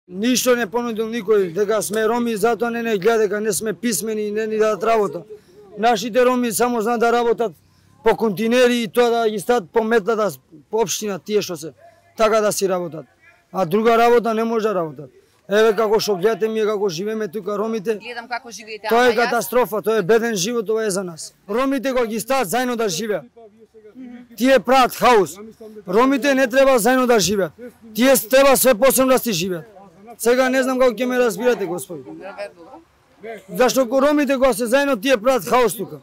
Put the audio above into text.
Ништо не понудил никој, дека сме роми, затоа не гледа дека не сме писмени и не ни дадат работа. Нашите роми само знаат да работат по континери и тоа да ги стат по метлата по општина тие што се така да си работат. А друга работа не може да работат. Еве како што гледате ми како живееме тука ромите. Гледам како живеете. Тоа е катастрофа, тоа е беден живот, ова е за нас. Ромите кога ги стават заедно да живеат. Тие прават хаос. Ромите не треба заедно да живеат. Тие треба све посебно да си живеат. Сега не знам како ќе ме разбирате, господи. Зашто ромите кога се заедно тие прават хаос тука.